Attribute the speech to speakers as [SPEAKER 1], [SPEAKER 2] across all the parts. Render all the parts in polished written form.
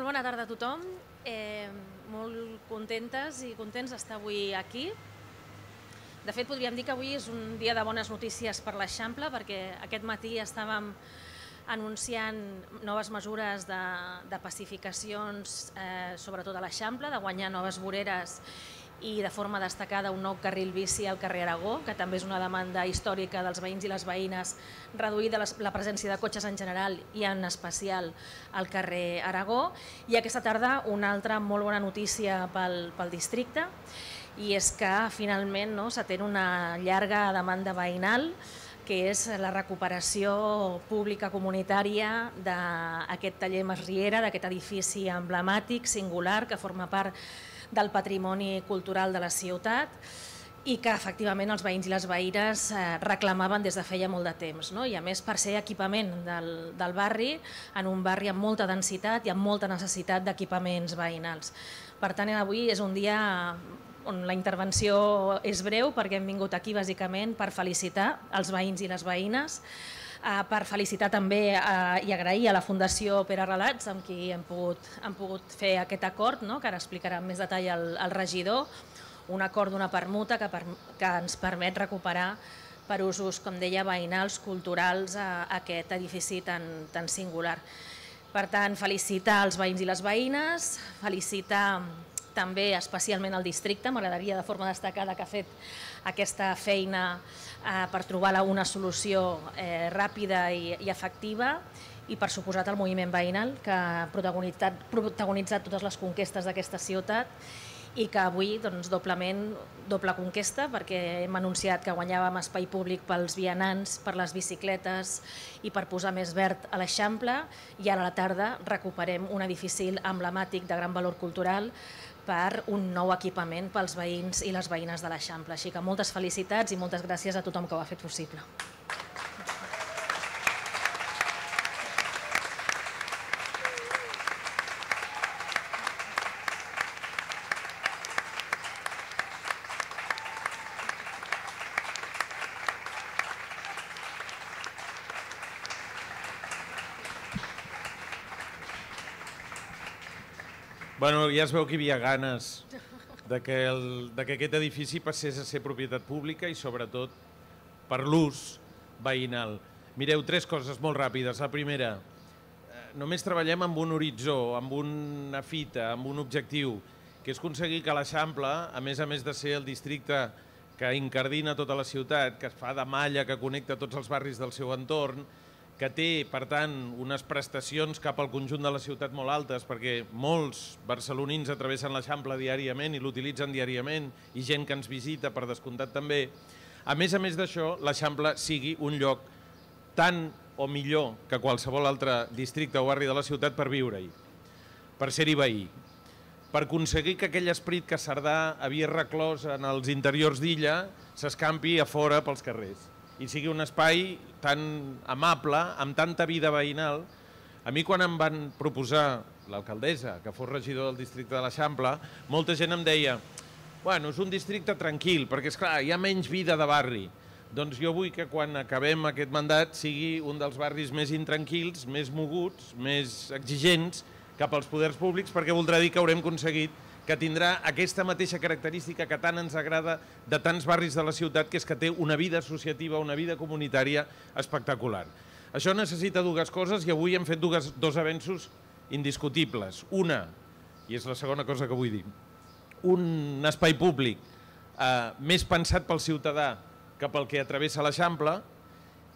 [SPEAKER 1] Molt bona tarda a tothom. Molt contentes i contents d'estar avui aquí. De fet, podríem dir que avui és un dia de bones notícies per l'Eixample, perquè aquest matí estàvem anunciant noves mesures de pacificacions, sobretot a l'Eixample, de guanyar noves voreres i de forma destacada un nou carril bici al carrer Aragó, que també és una demanda històrica dels veïns i les veïnes, reduir la presència de cotxes en general i en especial al carrer Aragó. I aquesta tarda una altra molt bona notícia pel districte, i és que finalment s'atén una llarga demanda veïnal, que és la recuperació pública comunitària d'aquest taller Masriera, d'aquest edifici emblemàtic, singular, que forma part del patrimoni cultural de la ciutat i que efectivament els veïns i les veïnes reclamaven des de feia molt de temps. I a més per ser equipament del barri, en un barri amb molta densitat i amb molta necessitat d'equipaments veïnals. Per tant, avui és un dia on la intervenció és breu, perquè hem vingut aquí bàsicament per felicitar els veïns i les veïnes, per felicitar també i agrair a la Fundació Pere Relats, amb qui hem pogut fer aquest acord, que ara explicarà amb més detall el regidor, un acord d'una permuta que ens permet recuperar per usos, com deia, veïnals, culturals, aquest edifici tan singular. Per tant, felicitar els veïns i les veïnes, felicitar també especialment el districte, m'agradaria de forma destacada que ha fet aquesta feina per trobar una solució ràpida i efectiva, i per suposat el moviment veïnal que ha protagonitzat totes les conquestes d'aquesta ciutat i que avui doble conquesta, perquè hem anunciat que guanyàvem espai públic pels vianants, per les bicicletes i per posar més verd a l'Eixample, i ara a la tarda recuperem un edifici emblemàtic de gran valor cultural per un nou equipament pels veïns i les veïnes de l'Eixample. Així que moltes felicitats i moltes gràcies a tothom que ho ha fet possible.
[SPEAKER 2] Bueno, ja es veu que hi havia ganes que aquest edifici passés a ser propietat pública i sobretot per l'ús veïnal. Mireu, 3 coses molt ràpides. La primera, només treballem amb un horitzó, amb una fita, amb un objectiu, que és aconseguir que l'Eixample, a més de ser el districte que incardina tota la ciutat, que es fa de malla, que connecta tots els barris del seu entorn, que té, per tant, unes prestacions cap al conjunt de la ciutat molt altes, perquè molts barcelonins travessen l'Eixample diàriament i l'utilitzen diàriament, i gent que ens visita, per descomptat també. A més d'això, l'Eixample sigui un lloc tan o millor que qualsevol altre districte o barri de la ciutat per viure-hi, per ser-hi veí, per aconseguir que aquell esperit que Cerdà havia reclòs en els interiors d'Illa s'escampi a fora pels carrers i sigui un espai tan amable, amb tanta vida veïnal. A mi, quan em van proposar l'alcaldessa que fos regidor del districte de l'Eixample, molta gent em deia: bueno, és un districte tranquil, perquè esclar, hi ha menys vida de barri. Doncs jo vull que quan acabem aquest mandat sigui un dels barris més intranquils, més moguts, més exigents cap als poders públics, perquè voldrà dir que haurem aconseguit que tindrà aquesta mateixa característica que tant ens agrada de tants barris de la ciutat, que és que té una vida associativa, una vida comunitària espectacular. Això necessita 2 coses i avui hem fet 2 avenços indiscutibles. Una, i és la segona cosa que vull dir, un espai públic més pensat pel ciutadà que pel que travessa l'Eixample,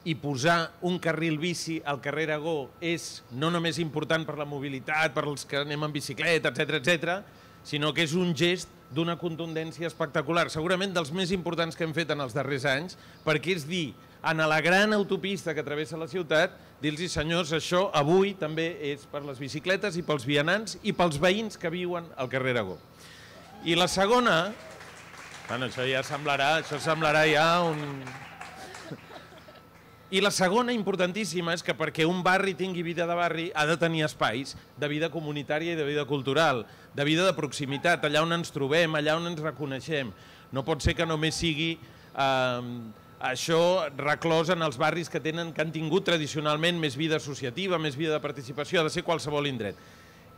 [SPEAKER 2] i posar un carril bici al carrer Aragó és no només important per la mobilitat, per als que anem en bicicleta, etc., sinó que és un gest d'una contundència espectacular, segurament dels més importants que hem fet en els darrers anys, perquè és dir, en la gran autopista que travessa la ciutat, dir-los, senyors, això avui també és per les bicicletes i pels vianants i pels veïns que viuen al carrer Aragó. I la segona, bueno, això semblarà ja un... I la segona, importantíssima, és que perquè un barri tingui vida de barri ha de tenir espais de vida comunitària i de vida cultural, de vida de proximitat, allà on ens trobem, allà on ens reconeixem. No pot ser que només sigui això reclòs en els barris que han tingut tradicionalment més vida associativa, més vida de participació, ha de ser qualsevol indret.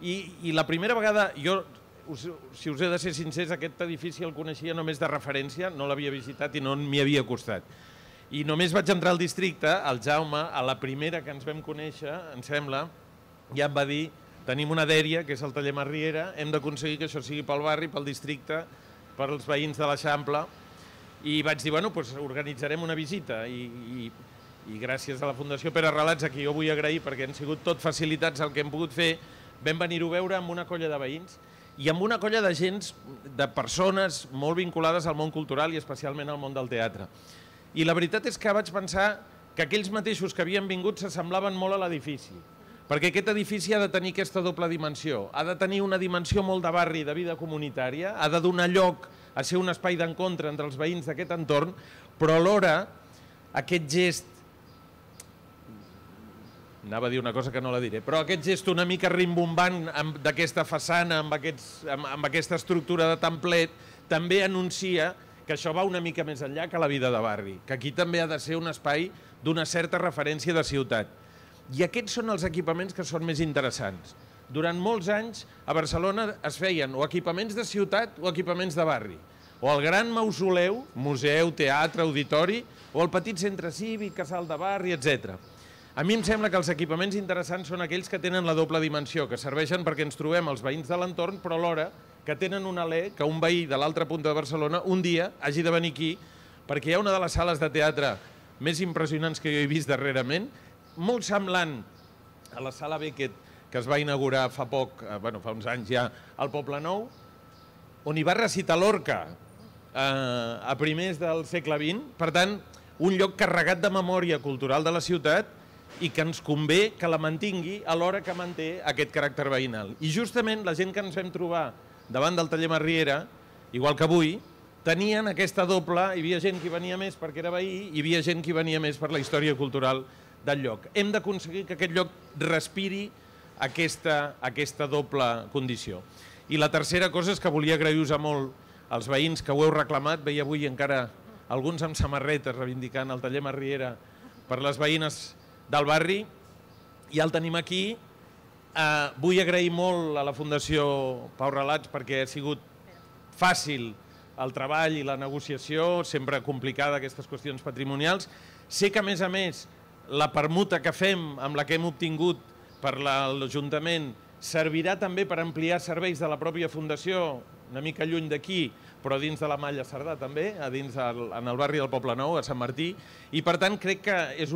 [SPEAKER 2] I la primera vegada, jo, si us he de ser sincers, aquest edifici el coneixia només de referència, no l'havia visitat i no m'hi havia costat. I només vaig entrar al districte, el Jaume, a la primera que ens vam conèixer, em sembla, ja em va dir, tenim una dèria, que és el taller Masriera, hem d'aconseguir que això sigui pel barri, pel districte, pels veïns de l'Eixample, i vaig dir, bueno, doncs organitzarem una visita, i gràcies a la Fundació Pere Relats, a qui jo vull agrair, perquè han sigut tot facilitats el que hem pogut fer, vam venir-ho a veure amb una colla de veïns i amb una colla de gent, de persones molt vinculades al món cultural i especialment al món del teatre. I la veritat és que vaig pensar que aquells mateixos que havien vingut s'assemblaven molt a l'edifici, perquè aquest edifici ha de tenir aquesta doble dimensió, ha de tenir una dimensió molt de barri, de vida comunitària, ha de donar lloc a ser un espai d'encontre entre els veïns d'aquest entorn, però alhora aquest gest, anava a dir una cosa que no la diré, però aquest gest una mica rimbombant d'aquesta façana, amb aquesta estructura de templet, també anuncia que això va una mica més enllà que la vida de barri, que aquí també ha de ser un espai d'una certa referència de ciutat. I aquests són els equipaments que són més interessants. Durant molts anys a Barcelona es feien o equipaments de ciutat o equipaments de barri, o el gran mausoleu, museu, teatre, auditori, o el petit centre cívic, casal de barri, etc. A mi em sembla que els equipaments interessants són aquells que tenen la doble dimensió, que serveixen perquè ens trobem els veïns de l'entorn, però alhora que tenen un alè que un veí de l'altra punta de Barcelona un dia hagi de venir aquí, perquè hi ha una de les sales de teatre més impressionants que jo he vist darrerament, molt semblant a la sala Beckett, que es va inaugurar fa poc, fa uns anys ja, al Poblenou, on hi va recitar Lorca a primers del segle XX. Per tant, un lloc carregat de memòria cultural de la ciutat i que ens convé que la mantingui alhora que manté aquest caràcter veïnal. I justament la gent que ens vam trobar davant del taller Masriera, igual que avui, tenien aquesta doble, hi havia gent que venia més perquè era veí, hi havia gent que venia més per la història cultural del lloc. Hem d'aconseguir que aquest lloc respiri aquesta doble condició. I la tercera cosa és que volia agrair-vos molt als veïns que ho heu reclamat. Veia avui encara alguns amb samarretes reivindicant el taller Masriera per les veïnes del barri, i el tenim aquí. Vull agrair molt a la Fundació Pau Relats perquè ha sigut fàcil el treball i la negociació, sempre complicada aquestes qüestions patrimonials. Sé que, a més, la permuta que fem amb la que hem obtingut per l'Ajuntament servirà també per ampliar serveis de la pròpia Fundació, una mica lluny d'aquí, però dins de la Malla Cerdà també, en el barri del Poblenou, a Sant Martí, i per tant crec que és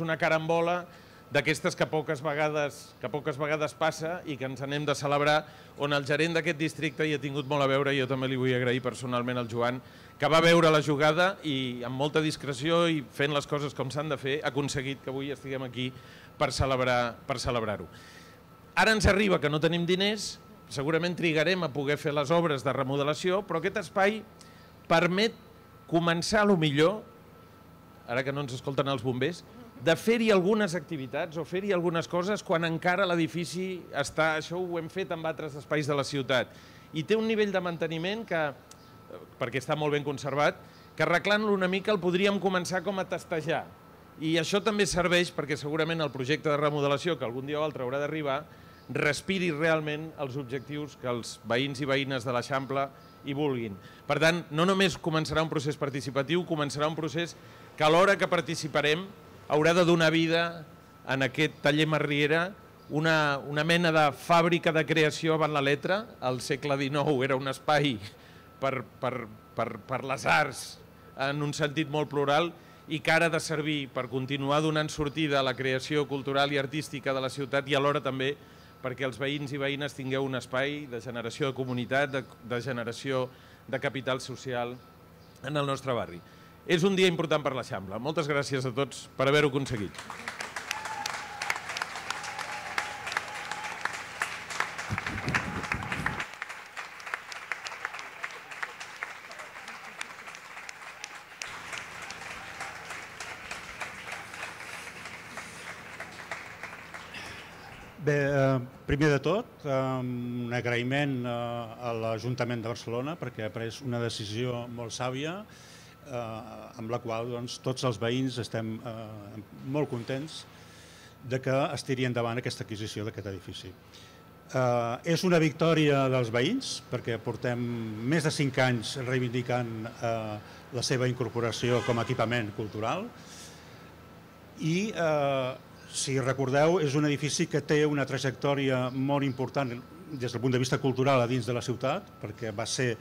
[SPEAKER 2] una carambola d'aquestes que poques vegades passa i que ens n'hem de celebrar, on el gerent d'aquest districte hi ha tingut molt a veure, i jo també li vull agrair personalment al Joan, que va veure la jugada i amb molta discreció i fent les coses com s'han de fer, ha aconseguit que avui estiguem aquí per celebrar-ho. Ara ens arriba que no tenim diners, segurament trigarem a poder fer les obres de remodelació, però aquest espai permet començar, a lo millor, ara que no ens escolten els bombers, de fer-hi algunes activitats o fer-hi algunes coses quan encara l'edifici està... Això ho hem fet amb altres espais de la ciutat. I té un nivell de manteniment que, perquè està molt ben conservat, que arreglant-lo una mica el podríem començar com a testejar. I això també serveix perquè segurament el projecte de remodelació, que algun dia o altre haurà d'arribar, respiri realment els objectius que els veïns i veïnes de l'Eixample hi vulguin. Per tant, no només començarà un procés participatiu, començarà un procés que a l'hora que participarem haurà de donar vida en aquest taller Masriera, una mena de fàbrica de creació avant la letra. Al segle XIX era un espai per les arts en un sentit molt plural i que ara ha de servir per continuar donant sortida a la creació cultural i artística de la ciutat i alhora també perquè els veïns i veïnes tingueu un espai de generació de comunitat, de generació de capital social en el nostre barri. És un dia important per l'Eixample. Moltes gràcies a tots per haver-ho aconseguit.
[SPEAKER 3] Bé, primer de tot, un agraïment a l'Ajuntament de Barcelona perquè ha pres una decisió molt sàvia amb la qual tots els veïns estem molt contents de que es tiri endavant aquesta adquisició d'aquest edifici. És una victòria dels veïns, perquè portem més de 5 anys reivindicant la seva incorporació com a equipament cultural i, si recordeu, és un edifici que té una trajectòria molt important des del punt de vista cultural a dins de la ciutat, perquè va ser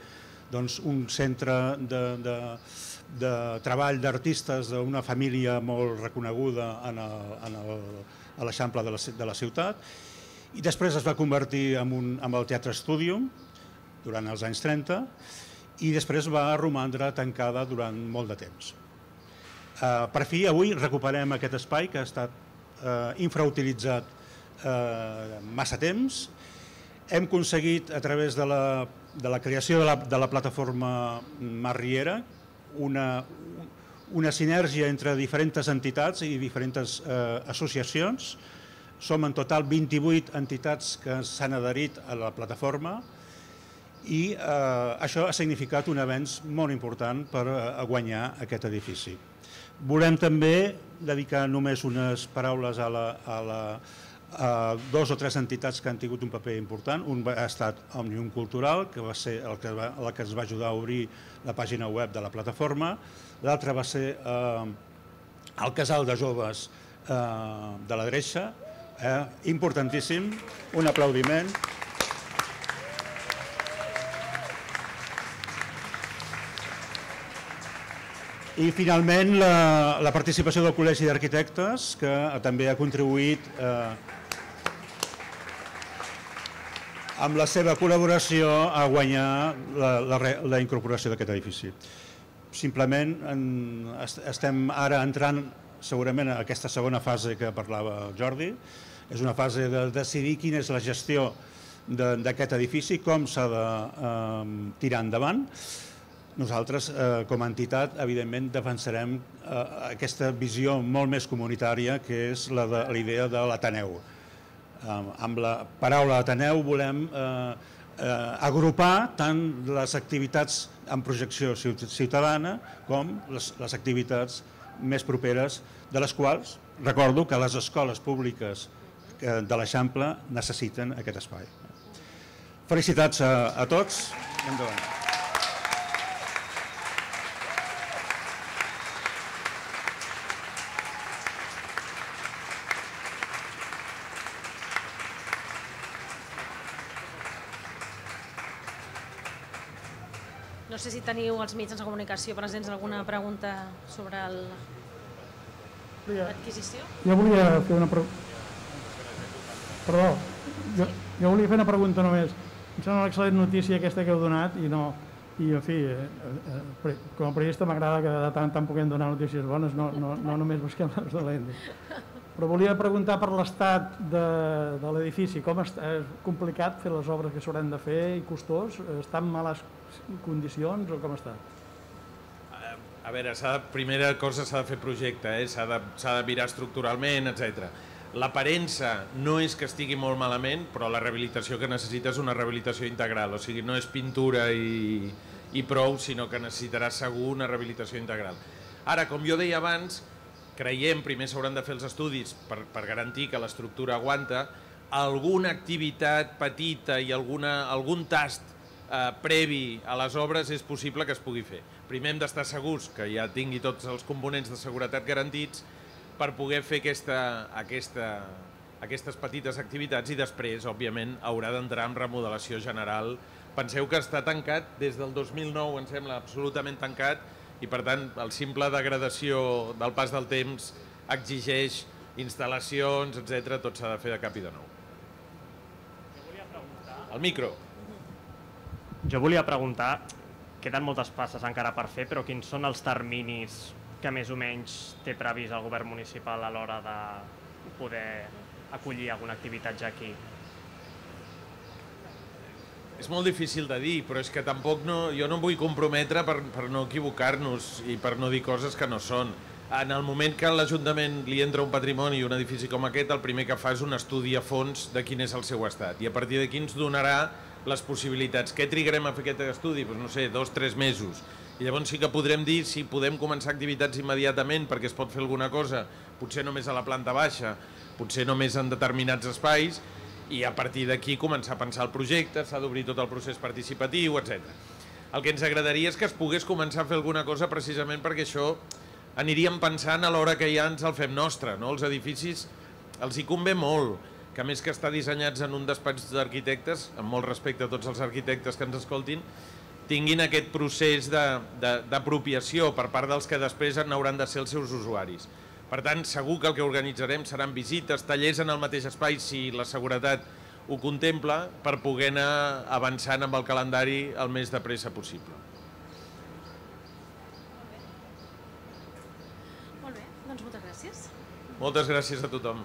[SPEAKER 3] un centre de treball d'artistes d'una família molt reconeguda a l'Eixample de la ciutat, i després es va convertir en el Teatre Stúdium durant els anys 30 i després va romandre tancada durant molt de temps. Per fi, avui recuperem aquest espai que ha estat infrautilitzat massa temps. Hem aconseguit, a través de la creació de la plataforma Mar Riera, una sinergia entre diferents entitats i diferents associacions. Som en total 28 entitats que s'han adherit a la plataforma i això ha significat un avenç molt important per guanyar aquest edifici. Volem també dedicar només unes paraules a 2 o 3 entitats que han tingut un paper important. Un ha estat Òmnium Cultural, que va ser el que ens va ajudar a obrir la pàgina web de la plataforma. L'altre va ser el Casal de Joves de la Dreixa, importantíssim, un aplaudiment. I finalment la participació del Col·legi d'Arquitectes, que també ha contribuït amb la seva col·laboració a guanyar la incorporació d'aquest edifici. Simplement estem ara entrant segurament en aquesta segona fase que parlava el Jordi. És una fase de decidir quina és la gestió d'aquest edifici, com s'ha de tirar endavant. Nosaltres, com a entitat, evidentment defensarem aquesta visió molt més comunitària, que és la idea de l'Ateneu. Amb la paraula Ateneu volem agrupar tant les activitats en projecció ciutadana com les activitats més properes, de les quals recordo que les escoles públiques de l'Eixample necessiten aquest espai. Felicitats a tots i endavant.
[SPEAKER 1] No sé si teniu els mitjans de comunicació presents alguna pregunta sobre l'adquisició.
[SPEAKER 4] Jo volia fer una pregunta. Perdó, jo volia fer una pregunta només. Em sembla una excel·lent notícia aquesta que heu donat i en fi, com a periodista m'agrada que de tant en tant puguem donar notícies bones, no només busquem les dolentes. Però volia preguntar per l'estat de l'edifici. Com és complicat fer les obres que s'hauran de fer i costós? Està en males condicions o com està?
[SPEAKER 2] A veure, primera cosa s'ha de fer projecte, s'ha de mirar estructuralment, etc. L'aparença no és que estigui molt malament, però la rehabilitació que necessita és una rehabilitació integral, o sigui, no és pintura i prou, sinó que necessitarà segur una rehabilitació integral. Ara, com jo deia abans, creiem, primer s'hauran de fer els estudis per garantir que l'estructura aguanta, alguna activitat petita i algun tast previ a les obres és possible que es pugui fer. Primer hem d'estar segurs que ja tingui tots els components de seguretat garantits per poder fer aquestes petites activitats i després, òbviament, haurà d'entrar en remodelació general. Penseu que està tancat des del 2009, em sembla absolutament tancat, i per tant el simple degradació del pas del temps exigeix instal·lacions, etc. Tot s'ha de fer de cap i de nou. El micro.
[SPEAKER 5] Jo volia preguntar, queden moltes passes encara per fer, però quins són els terminis que més o menys té previst el govern municipal a l'hora de poder acollir alguna activitat ja aquí?
[SPEAKER 2] És molt difícil de dir, però és que tampoc jo no em vull comprometre per no equivocar-nos i per no dir coses que no són. En el moment que a l'Ajuntament li entra un patrimoni i un edifici com aquest, el primer que fa és un estudi a fons de quin és el seu estat i a partir d'aquí ens donarà les possibilitats. Què trigarem a fer aquest estudi? Doncs no sé, 2 o 3 mesos. I llavors sí que podrem dir si podem començar activitats immediatament perquè es pot fer alguna cosa, potser només a la planta baixa, potser només en determinats espais, i a partir d'aquí començar a pensar el projecte, s'ha d'obrir tot el procés participatiu, etc. El que ens agradaria és que es pogués començar a fer alguna cosa precisament perquè això aniríem pensant a l'hora que ja ens el fem nostre, no? Els edificis els hi convé molt, que a més que estar dissenyats en un despatx d'arquitectes, amb molt respecte a tots els arquitectes que ens escoltin, tinguin aquest procés d'apropiació per part dels que després n'hauran de ser els seus usuaris. Per tant, segur que el que organitzarem seran visites, tallers en el mateix espai, si la seguretat ho contempla, per poder anar avançant amb el calendari el més de pressa possible.
[SPEAKER 1] Molt bé, doncs moltes gràcies.
[SPEAKER 2] Moltes gràcies a tothom.